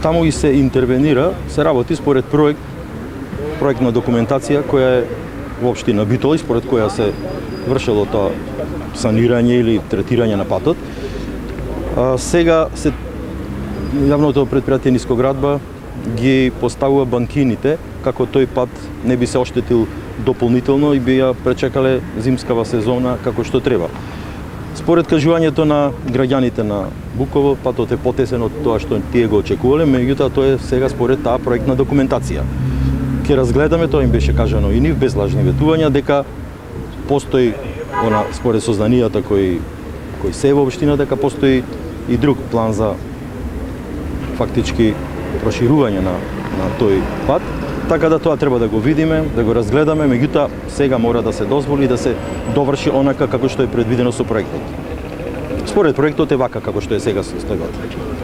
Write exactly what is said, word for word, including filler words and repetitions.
таму и се интервенира, се работи според проект, проектна документација која е во општина Битола, според која се вршело тоа санирање или третирање на патот. А, сега се јавното предпријатие Нискоградба ги поставува банкините како тој пат не би се оштетил дополнително и би ја пречекале зимскава сезона како што треба. Според кажувањето на граѓаните на Буково, патот е потесен од тоа што тие го очекувале, меѓутоа тоа е сега според таа проектна документација. Ќе разгледаме, тоа им беше кажано и нив, без лажни ветувања, дека постои, она, според сознанијата кои, кои се во општина, дека постои и друг план за фактички проширување на, на тој пат, така да тоа треба да го видиме, да го разгледаме, меѓутоа сега мора да се дозволи да се доврши онака како што е предвидено со проектот. Според проектот е вака како што е сега состојбата.